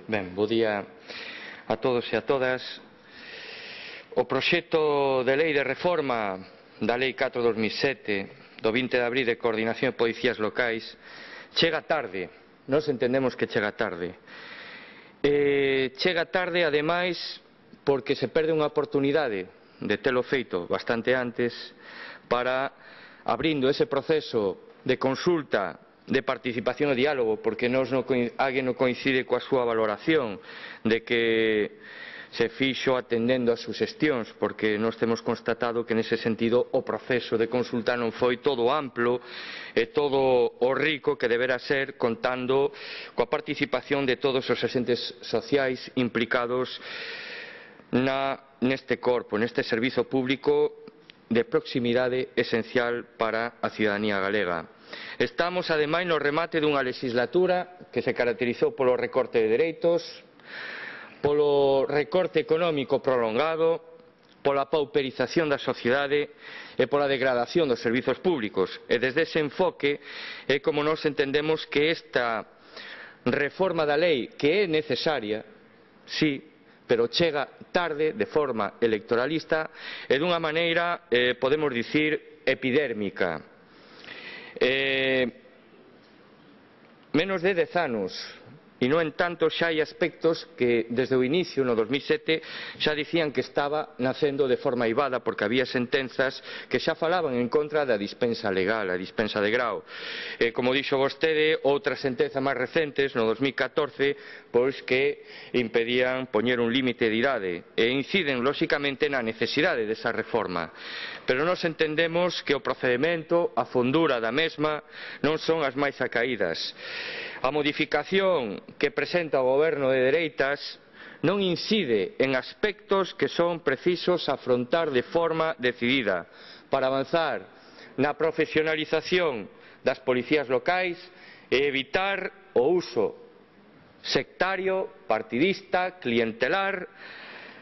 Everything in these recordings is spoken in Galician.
Ben, bo día a todos e a todas. O proxecto de lei de reforma da Lei 4/2007 do 20 de abril de coordinación de policías locais chega tarde, nós entendemos que chega tarde. Chega tarde, ademais, porque se perde unha oportunidade de telo feito bastante antes para, abrindo ese proceso de consulta, de participación e diálogo, porque alguén non coincide coa súa valoración de que se fixo atendendo as suxestións, porque nós temos constatado que nese sentido o proceso de consulta non foi todo amplo e todo o rico que debera ser, contando coa participación de todos os agentes sociais implicados neste corpo, neste servizo público de proximidade esencial para a cidadanía galega. Estamos, ademais, no remate dunha legislatura que se caracterizou polo recorte de dereitos, polo recorte económico prolongado, pola pauperización da sociedade e pola degradación dos servizos públicos. E desde ese enfoque é como nós entendemos que esta reforma da lei, que é necesaria, sí, pero chega tarde, de forma electoralista e dunha maneira, podemos dicir, epidérmica. Menos de 10 anos, e no entanto xa hai aspectos que desde o inicio, no 2007, xa dicían que estaba nacendo de forma aivada, porque había sentenzas que xa falaban en contra da dispensa legal, a dispensa de grao. Como dixo vostede, outras sentenzas máis recentes, no 2014, pois que impedían poñer un límite de idade e inciden, lóxicamente, na necesidade desa reforma. Pero nós entendemos que o procedimento, a fondura da mesma, non son as máis acaídas. A modificación que presenta o goberno de dereitas non incide en aspectos que son precisos afrontar de forma decidida para avanzar na profesionalización das policías locais e evitar o uso sectario, partidista, clientelar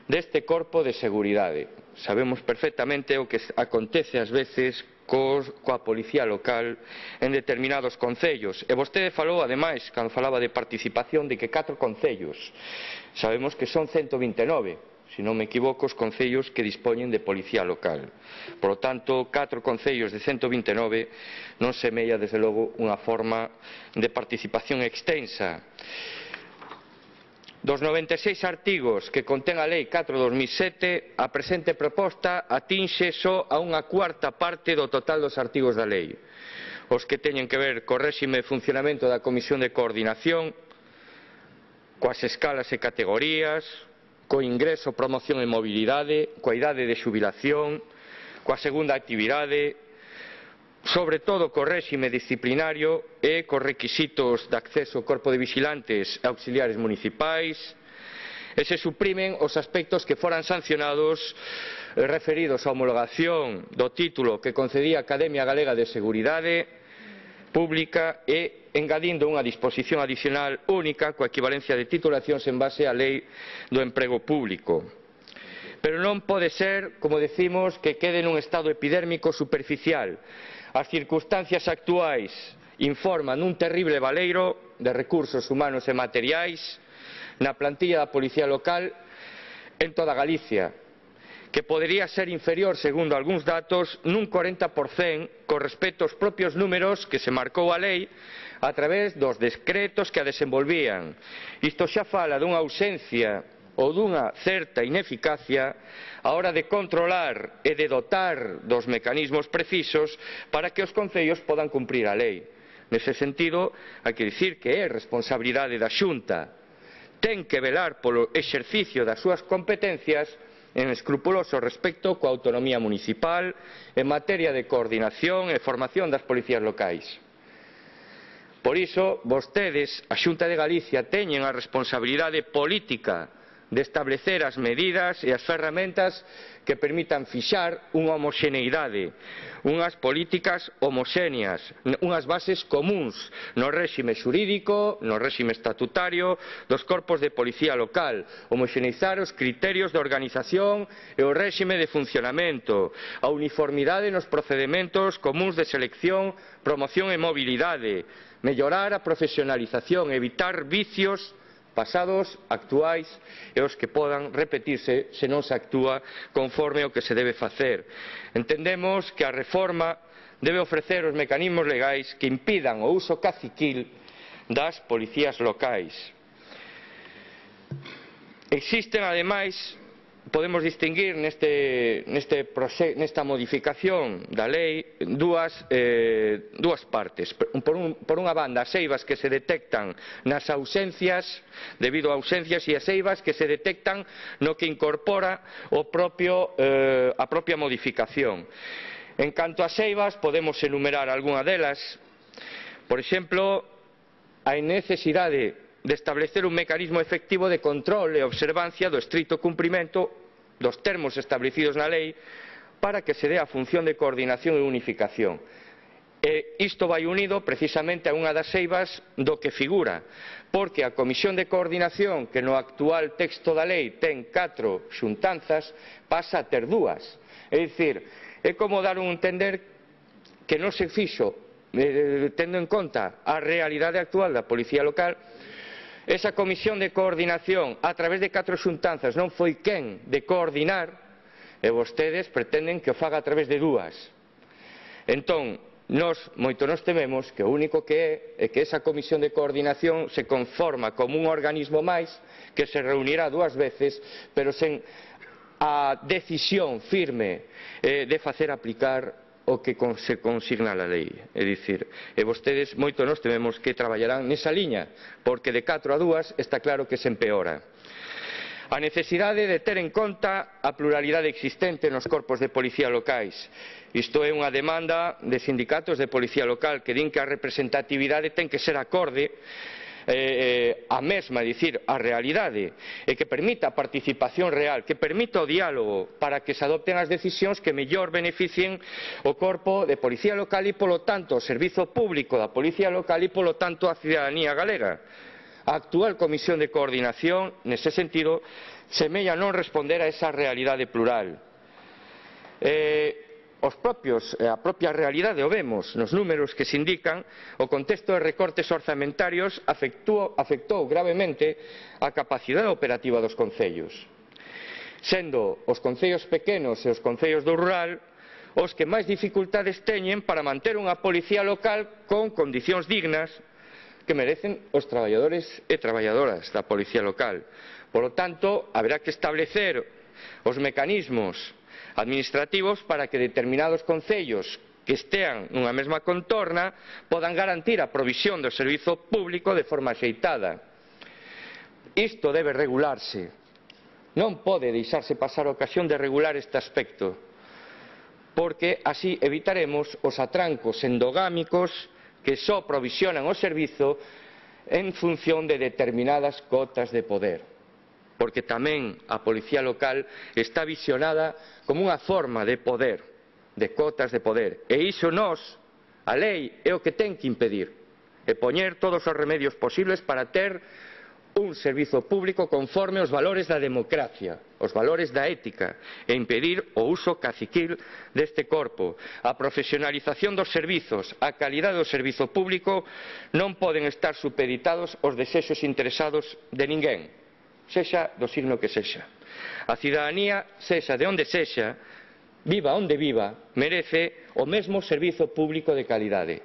deste corpo de seguridade. Sabemos perfectamente o que acontece ás veces coa policía local en determinados concellos. E vostede falou, ademais, cando falaba de participación, de que 4 concellos. Sabemos que son 129, se non me equivoco, os concellos que dispoñen de policía local. Por lo tanto, 4 concellos de 129 non semella, desde logo, unha forma de participación extensa. Dos 96 artigos que contén a Lei 4/2007, a presente proposta atinxe só a unha cuarta parte do total dos artigos da lei. Os que teñen que ver co réxime de funcionamento da Comisión de Coordinación, coas escalas e categorías, co ingreso, promoción e mobilidade, coa idade de xubilación, coa segunda actividade, sobre todo co réxime disciplinario e cos requisitos de acceso ao corpo de vixilantes e auxiliares municipais, e se suprimen os aspectos que foran sancionados referidos á homologación do título que concedía a Academia Galega de Seguridade Pública e engadindo unha disposición adicional única coa equivalencia de titulacións en base á Lei do Emprego Público. Pero non pode ser, como decimos, que quede nun estado epidérmico superficial. As circunstancias actuais informan un terrible baleiro de recursos humanos e materiais na plantilla da Policía Local en toda Galicia, que podería ser inferior, segundo algúns datos, nun 40% con respecto aos propios números que se marcou a lei a través dos decretos que a desenvolvían. Isto xa fala dunha ausencia ou dunha certa ineficacia á hora de controlar e de dotar dos mecanismos precisos para que os concellos podan cumprir a lei. Nese sentido, hai que dicir que é responsabilidade da Xunta. Ten que velar polo exercicio das súas competencias en escrupuloso respecto coa autonomía municipal en materia de coordinación e formación das policías locais. Por iso, vostedes, a Xunta de Galicia, teñen a responsabilidade política de establecer as medidas e as ferramentas que permitan fixar unha homoxeneidade, unhas políticas homoxéneas, unhas bases comuns no réxime xurídico, no réxime estatutario dos corpos de policía local, homoxeneizar os criterios de organización e o réxime de funcionamento, a uniformidade nos procedementos comuns de selección, promoción e mobilidade, mellorar a profesionalización, evitar vicios pasados, actuais e os que podan repetirse se non se actúa conforme ao que se debe facer. Entendemos que a reforma debe ofrecer os mecanismos legais que impidan o uso caciquil das policías locais. Existen, ademais, podemos distinguir nesta modificación da lei dúas partes. Por unha banda, as eivas que se detectan nas ausencias, debido a ausencias, e as eivas que se detectan no que incorpora a propia modificación. En canto ás eivas, podemos enumerar algunha delas. Por exemplo, a necesidade de establecer un mecanismo efectivo de control e observancia do estrito cumprimento dos termos establecidos na lei para que se dé a función de coordinación e unificación. E isto vai unido precisamente a unha das eivas do que figura, porque a Comisión de Coordinación, que no actual texto da lei ten 4 xuntanzas, pasa a ter 2. É dicir, é como dar un entender que non se fixo, tendo en conta a realidade actual da Policía Local. Esa comisión de coordinación a través de 4 xuntanzas non foi quen de coordinar e vostedes pretenden que o faga a través de 2. Entón, nós moito nos tememos que o único que é que esa comisión de coordinación se conforma como un organismo máis que se reunirá 2 veces, pero sen a decisión firme de facer aplicar o que se consigna na lei. É dicir, e vostedes moito nos tememos que traballarán nesa liña, porque de 4 a 2 está claro que se empeora. A necesidade de ter en conta a pluralidade existente nos corpos de policía locais. Isto é unha demanda de sindicatos de policía local que din que a representatividade ten que ser acorde a mesma, é dicir, a realidade, e que permita a participación real, que permita o diálogo para que se adopten as decisións que mellor beneficien o corpo de policía local e, polo tanto, o servizo público da policía local e, polo tanto, a cidadanía galega. A actual Comisión de Coordinación, nese sentido, semella non responder a esa realidade plural. A propia realidade o vemos nos números que se indican. O contexto de recortes orzamentarios afectou gravemente a capacidade operativa dos concellos, sendo os concellos pequenos e os concellos do rural os que máis dificultades teñen para manter unha policía local con condicións dignas que merecen os traballadores e traballadoras da policía local. Por lo tanto, haberá que establecer os mecanismos administrativos para que determinados concellos que estean nunha mesma contorna podan garantir a provisión do servizo público de forma axeitada. Isto debe regularse. Non pode deixarse pasar a ocasión de regular este aspecto, porque así evitaremos os atrancos endogámicos que só provisionan o servizo en función de determinadas cotas de poder. Porque tamén a policía local está visionada como unha forma de poder, de cotas de poder. E iso nós, a lei, é o que ten que impedir, e poñer todos os remedios posibles para ter un servizo público conforme aos valores da democracia, os valores da ética, e impedir o uso caciquil deste corpo. A profesionalización dos servizos, a calidade do servizo público non poden estar supeditados aos desexos interesados de ninguén, sexa do signo que sexa. A cidadanía, sexa de onde sexa, viva onde viva, merece o mesmo servizo público de calidade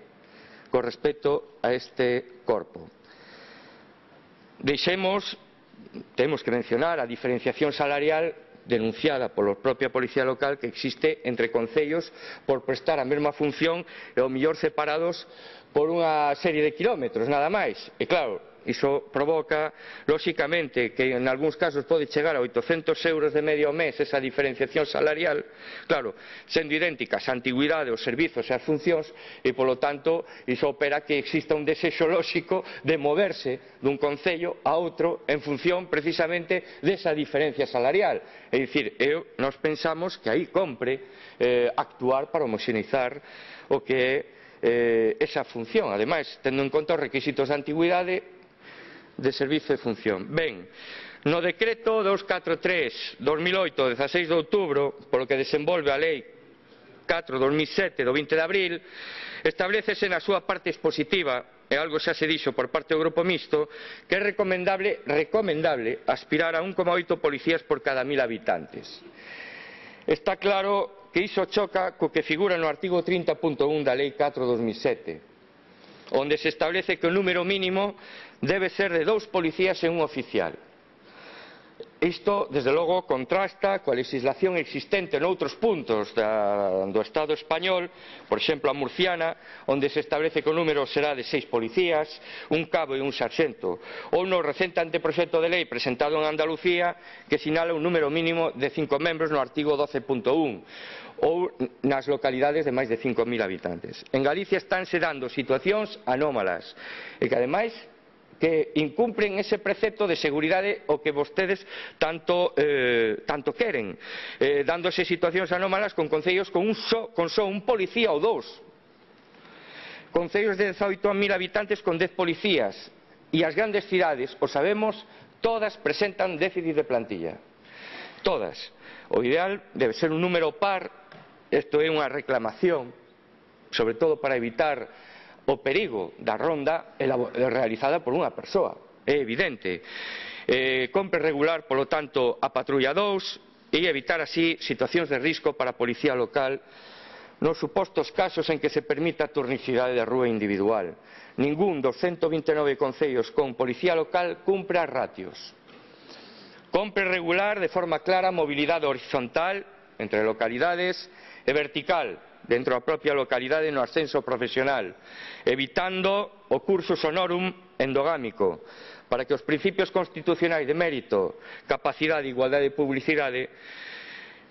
con respecto a este corpo. Temos que mencionar a diferenciación salarial denunciada pola propia Policía Local que existe entre concellos por prestar a mesma función e ao mellor separados por unha serie de kilómetros, nada máis. E claro, iso provoca, lóxicamente, que en algúns casos pode chegar a 800 euros de medio ao mes esa diferenciación salarial, claro, sendo idénticas a antigüidade, os servizos e as funcións, e polo tanto iso opera que exista un desexo lóxico de moverse dun concello a outro en función precisamente desa diferencia salarial. É dicir, nós pensamos que aí compre actuar para homoxeneizar o que é esa función, ademais, tendo en conta os requisitos de antigüidade, de servizo e función. Ben, no decreto 243/2008, 16 de outubro, polo que desenvolve a Lei 4/2007 do 20 de abril, establécese na súa parte expositiva, e algo xa se dixo por parte do Grupo Mixto, que é recomendable aspirar a 1,8 policías por cada 1000 habitantes. Está claro que iso choca co que figura no artigo 30.1 da Lei 4/2007, onde se establece que o número mínimo debe ser de 2 policías e un oficial. Isto, desde logo, contrasta coa legislación existente noutros puntos do Estado español, por exemplo a murciana, onde se establece que o número será de 6 policías, un cabo e un sarxento, ou no recente anteproxecto de lei presentado en Andalucía, que sinala un número mínimo de 5 membros no artigo 12.1, ou nas localidades de máis de 5.000 habitantes. En Galicia estánse dando situacións anómalas, e que ademais que incumpren ese precepto de seguridade o que vostedes tanto queren, dándose situacións anómalas con concellos con só un policía ou 2, concellos de 18.000 habitantes con 10 policías, e as grandes cidades, o sabemos, todas presentan déficit de plantilla, todas. O ideal debe ser un número par, isto é unha reclamación, sobre todo para evitar o perigo da ronda realizada por unha persoa, é evidente. Compre regular, polo tanto, a patrulla 2 e evitar así situacións de risco para a policía local nos supostos casos en que se permita a turnicidade de rúa individual. Ningún dos 129 concellos con policía local cumpre as ratios. Compre regular de forma clara a mobilidade horizontal entre localidades e vertical dentro da propia localidade no ascenso profesional, evitando o cursus honorum endogámico, para que os principios constitucionais de mérito, capacidade, igualdade e publicidade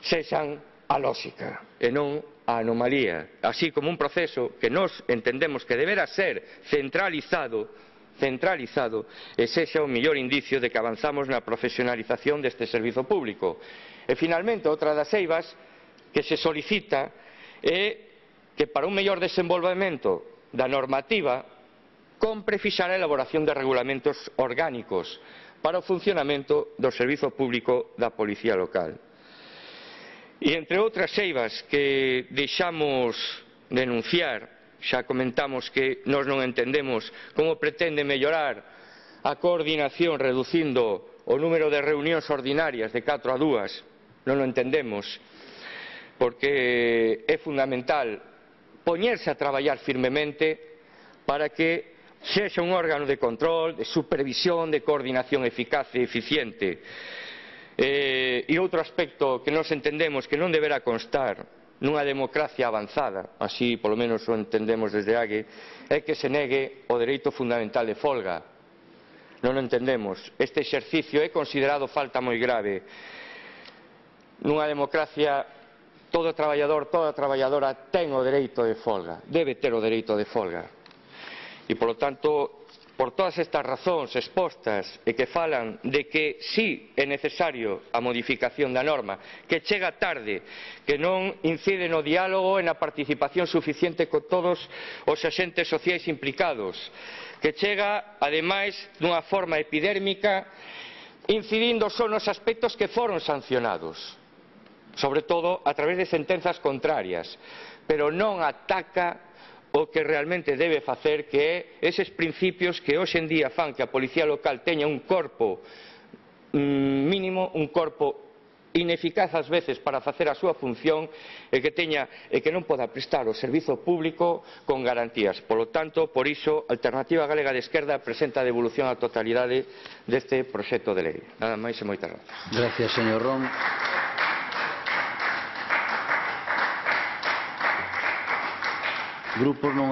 sexan a lóxica e non a anomalía, así como un proceso que nós entendemos que debera ser centralizado e sexa o mellor indicio de que avanzamos na profesionalización deste servizo público. E finalmente, outra das eivas que se solicita é que para un mellor desenvolvemento da normativa compre fixar a elaboración de regulamentos orgánicos para o funcionamento do servizo público da policía local. E entre outras eivas que deixamos denunciar, xa comentamos que nós non entendemos como pretende mellorar a coordinación reducindo o número de reunións ordinarias de 4 a 2, non o entendemos, porque é fundamental poñerse a traballar firmemente para que sexa un órgano de control, de supervisión, de coordinación eficaz e eficiente. E outro aspecto que nós entendemos que non deberá constar nunha democracia avanzada, así polo menos o entendemos desde AGE, é que se negue o dereito fundamental de folga. Non o entendemos. Este exercicio é considerado falta moi grave. Nunha democracia, todo traballador, toda traballadora ten o dereito de folga, debe ter o dereito de folga. E, polo tanto, por todas estas razóns expostas e que falan de que sí é necesario a modificación da norma, que chega tarde, que non incide no diálogo e na participación suficiente con todos os axentes sociais implicados, que chega, ademais, dunha forma epidérmica, incidindo só nos aspectos que foron sancionados, sobre todo a través de sentenzas contrarias, pero non ataca o que realmente debe facer, que é eses principios que hoxe en día fan que a policía local teña un corpo mínimo, un corpo ineficaz ás veces para facer a súa función e que non poda prestar o servizo público con garantías. Polo tanto, por iso, a Alternativa Galega de Esquerda presenta a devolución á totalidade deste proxecto de lei. Nada máis e moitas grazas. Gracias, señor Ron. Grupos non